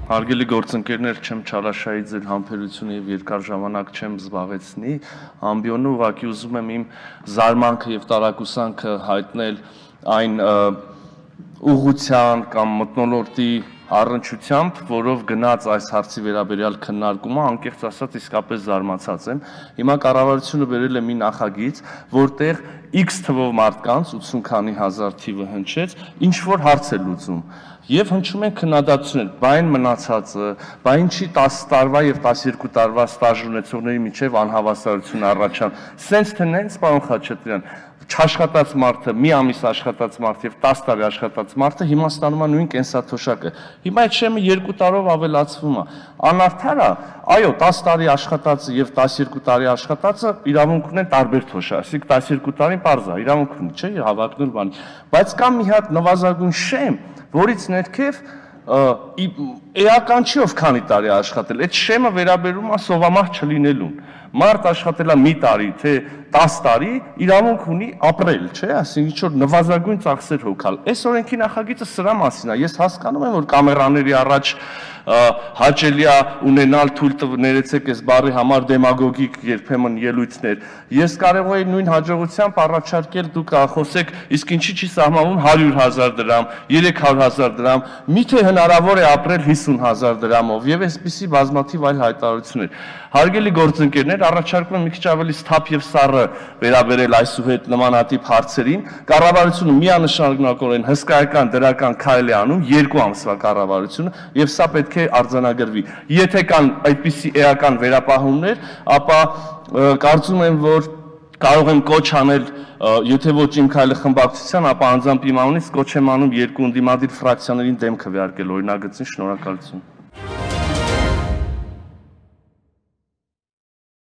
Հարգելի գործընկերներ, չեմ չարաշահի ձեր համբերությունը եւ երկար ժամանակ չեմ զբաղեցնի, ամբիոնը ուղղակի ուզում եմ իմ զարմանքը եւ տարակուսանքը հայտնել այն ուղղության կամ մթնոլորտի առնչությամբ, որով գնաց այս հարցի վերաբերյալ քննարկումը, անկեղծ ասած իսկապես զարմացած եմ։ Հիմա կառավարությունը բերել է մի նախագիծ, որտեղ X թվով մարդկանց 80 քանի հազար թիվը հնչեց, ինչ որ հարց է լուծում։ Եվ հնչում են քննադատություններ, բա այն մնացածը, բա ինչի 10 տարվա եւ 12 տարվա ստաժ ունեցողների միջև անհավասարություն առաջան։ Սենց թե նենց, պարոն Խաչատրյան, չաշխատած մարդը, մի ամիս աշխատած մարդ եւ 10 տարի աշխատած մարդը հիմա ստանում է նույն կենսաթոշակը։ Հիմա այդ շեմը 2 տարով ավելացվում է։ Անարդար է, այո, 10 տարի աշխատածը եւ 12 տարի աշխատածը իրավունք ունեն տարբեր թոշակ, ասիկ 12 տարին պարզ է, իրավունք ունի, չէ՞, հավակնոտ բան։ Բայց կա մի հատ նվազագույն շեմ, որից ներքև էական չի ով քանի տարի աշխատել, այդ շեմը վերաբերում է սովամահ չլինելուն։ Մարդ աշխատել է մի տարի, թե 10 տարի, իրավունք ունի ապրել, չէ՞, այսինքն ինչ որ նվազագույն ծախսեր հոգալ։ Այս օրենքի նախագիծը սրա մասին է։ Ես հասկանում եմ, որ կամերաների առաջ հաճելի է ունենալ թույլ ներեցեք այս բառի համար դեմագոգիկ երբեմն ելույթներ։ Ես կարող եի նույն հաջողությամբ առաջարկել դուք խոսեք, իսկ ինչի չի սահմանվում 100,000 դրամ, 300,000 դրամ, միթե հնարավոր է ապրել 50,000 դրամով եւ այսպիսի բազմաթիվ այլ հայտարարություններ։ Հարգելի գործընկերներ, առաջարկում եմ մի քիչ ավելի սթափ եւ սառը վերաբերել այսուհետ նմանատիպ հարցերին։ Կառավարությունը միանշանակորեն հսկայական դրական քայլ է անում 2 ամսվա կառավարությունը եւ սա պետք է արձանագրվի։ Եթե կան այդպիսի էական վերապահումներ, ապա կարծում եմ, որ կարող եմ կոչ անել, եթե ոչ իմ քայլը խմբակցության, ապա անձամբ իմ անունից կոչ եմ անում երկու ընդդիմադիր ֆրակցիաներին դեմ քվեարկել օրինագծին։ Շնորհակալություն։